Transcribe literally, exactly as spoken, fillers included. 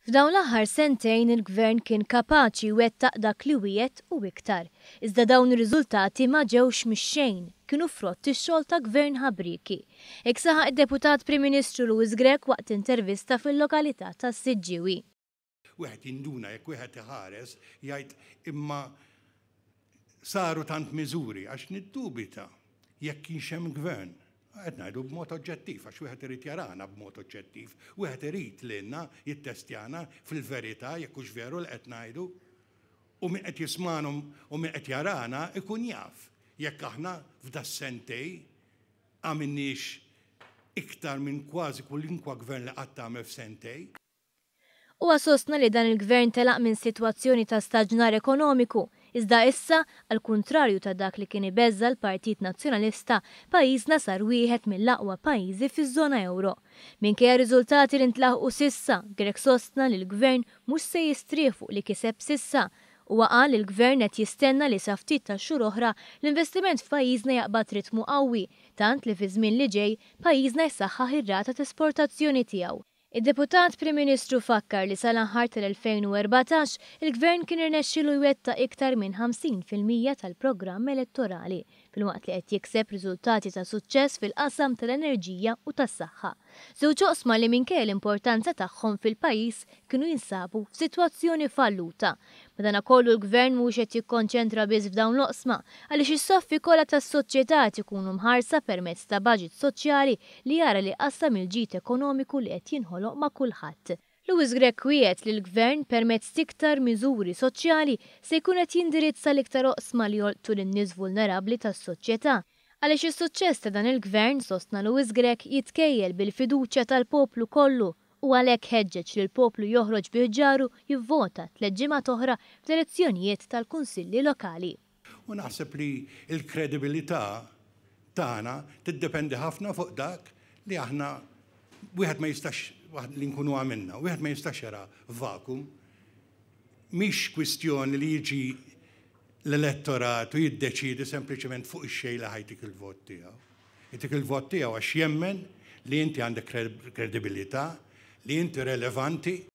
F'dawn l-aħħar sentejn il-Gvern kien kapaċi jwettaq dak li wiegħed u iktar. Iżda dawn ir-riżultati ma ġewx mix-xejn, kienu frott ix-xogħol ta' Gvern ħabrieki. Hekk saħaq id-Deputat Prim Ministru Louis Grech waqt intervista fil-lokalità tas-Siġġiewi. Wieħed jinduna jekk wieħed iħares jgħid imma saru tant miżuri għax niddubita jekk kienx hemm gvern. Qed ngħidu b'mod oġġettiv għax wieħed irid jarana b'mod oġġettiv, wieħed irid lilna jittestjana fil-verità jekk hux veru li qed ngħidu. U min qed jismagħna u min qed jarana ikun jaf jekk aħna f'das-sentejn għamilniex iktar minn kważi kwalunkwe gvern li qatt għamel f'sentejn. Huwa sostna li dan il-gvern telaq minn sitwazzjoni ta' staġnar ekonomiku, iżda issa, għal kuntrarju ta' dak li kien ibeżza l-Partit Nazzjonalista, pajjiżna sar wieħed mill-aqwa pajjiżi fiż-żona euro. Minkejja riżultati li ntlaħqu s'issa, Grech sostna li l-gvern mhux se jistrieħ fuq li kiseb s'issa. Huwa qal li l-gvern qed jistenna li sa ftit ta' xhur oħra l-investiment f'pajjiżna jaqbad ritmu qawwi, tant li fi żmien li ġej pajjiżna jsaħħaħ ir-rata ta' esportazzjoni tiegħu. Id-Deputat Prim Ministru fakkar li sal-aħħar tal-elfejn u erbatax il-Gvern kien irnexxielu jwettaq iktar minn ħamsin fil-mija tal-programm elettorali, filwaqt li qed jikseb riżultati ta' suċċess fil-qasam tal-enerġija u tas-saħħa. Żewġ oqsma li minkejja l-importanza tagħhom fil-pajjiż kienu jinsabu f'sitwazzjoni falluta. Madankollu l-Gvern mhux qed jikkonċentra biss f'dawn l-oqsma għaliex is-saffi kollha tas-soċjetà qed ikunu mħarsa permezz ta' baġit soċjali li jara li qassam il-ġid ekonomiku li qed jinħoloq ma' kulħadd. Louis Grech wiegħed li l-Gvern permezz t'iktar miżuri soċjali se jkun qed jindirizza l-iktar oqsma li jolqtu lin-nies vulnerabbli tas-soċjetà. Għaliex is-suċċess ta' dan il-Gvern, sostna Louis Grech, jitkejjel bil-fiduċja tal-poplu kollu u għalhekk ħeġġeġ li l-poplu joħroġ bi ħġaru jivvota tliet ġimgħat oħra fl-elezzjonijiet tal-Kunsilli Lokali. U naħseb li l-kredibilità tagħna tiddependi ħafna fuq dak li aħna wieħed ma jistax li nkunu għamilna, wieħed ma jistax jara vakum. Mhix kwistjoni li jiġi l-elettorat u jiddeċiedi sempliċement fuq ix-xejn li ħajtik il-vot tiegħu. Jtik il-vot tiegħu għax jemmen li inti għandek kredibilità, li inti relevanti.